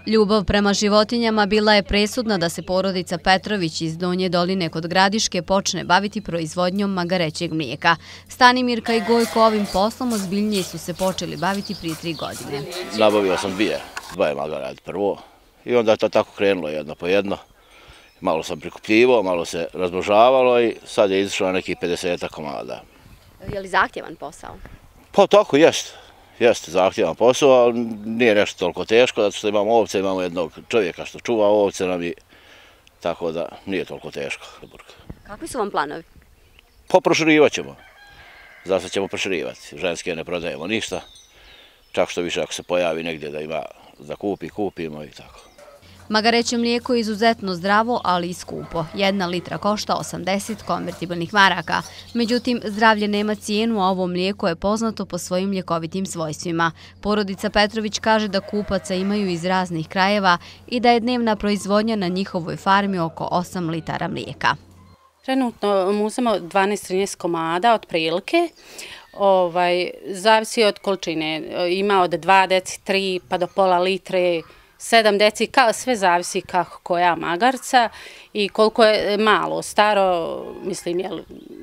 Ljubav prema životinjama bila je presudna da se porodica Petrović iz Donje Doline kod Gradiške počne baviti proizvodnjom magarećeg mlijeka. Stanimirka i Gojko ovim poslom ozbiljnije su se počeli baviti prije 3 godine. Nabavio sam dvoje magarad prvo i onda je to tako krenulo jedno po jedno. Malo sam prikupljivao, malo se razmnožavalo i sad je izašlo nekih 50 komada. Je li zahtjevan posao? Pa tako jeste zahtjevan posao, ali nije nešto toliko teško, zato što imamo ovce, imamo jednog čovjeka što čuva ovce nam i tako da nije toliko teško. Kakvi su vam planovi? Pa proširivat ćemo. Zato ćemo proširivati. Ženske ne prodajemo ništa. Čak što više ako se pojavi negdje da ima da kupimo i tako. Magareće mlijeko je izuzetno zdravo, ali i skupo. 1 litra košta 80 konvertibilnih maraka. Međutim, zdravlje nema cijenu, a ovo mlijeko je poznato po svojim ljekovitim svojstvima. Porodica Petrović kaže da kupaca imaju iz raznih krajeva i da je dnevna proizvodnja na njihovoj farmi oko 8 litara mlijeka. Trenutno muzemo 12-13 komada otprilike. Zavisi od količine. Ima od 2 deci, 3 pa do pola litre, 7 deci, sve zavisi kako koja magarca i koliko je malo, staro, mislim je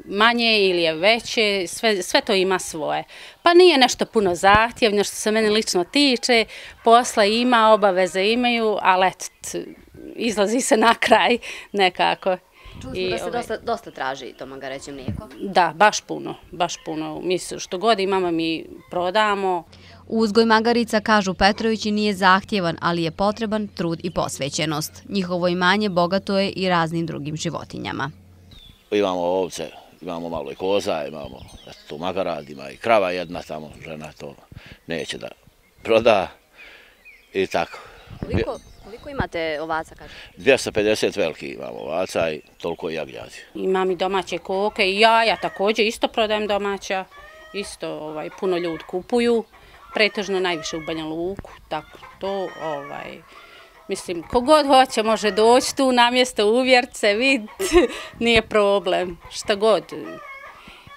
manje ili je veće, sve to ima svoje. Pa nije nešto puno zahtjevno što se mene lično tiče, posla ima, obaveze imaju, ali eto, izlazi se na kraj nekako. Čuli smo da se dosta traži to magareće mlijeko. Da, baš puno. Mislim, što god imamo mi prodamo. Uzgoj magarica, kažu Petrovići, nije zahtjevan, ali je potreban trud i posvećenost. Njihovo imanje bogato je i raznim drugim životinjama. Imamo ovce, imamo malo i koza, imamo tu magarad, ima i krava jedna tamo, žena to neće da proda i tako. Koliko imate ovaca, kaže? 250 veliki imamo ovaca i toliko i jagnjadi. Imam i domaće koke i jaja također, isto prodajem domaća, isto puno ljudi kupuju, pretežno najviše u Banja Luku, tako to, mislim, kogod hoće može doći tu na mjesto, uvjert se, vidjeti, nije problem, šta god.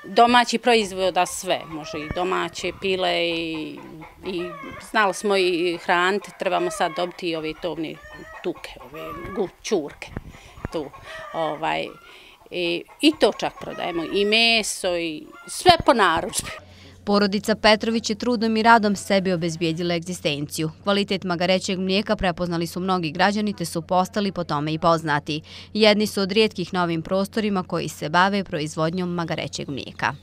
Domaći proizvoda sve, može i domaće pile i znali smo i hraniti, trebamo sad dobiti i ove tovne tuke, ove čurke tu. I to čak prodajemo, i meso, i sve po narudžbi. Porodica Petrović je trudom i radom sebi obezbijedila egzistenciju. Kvalitet magarećeg mlijeka prepoznali su mnogi građani te su postali po tome i poznati. Jedni su od rijetkih na ovim prostorima koji se bave proizvodnjom magarećeg mlijeka.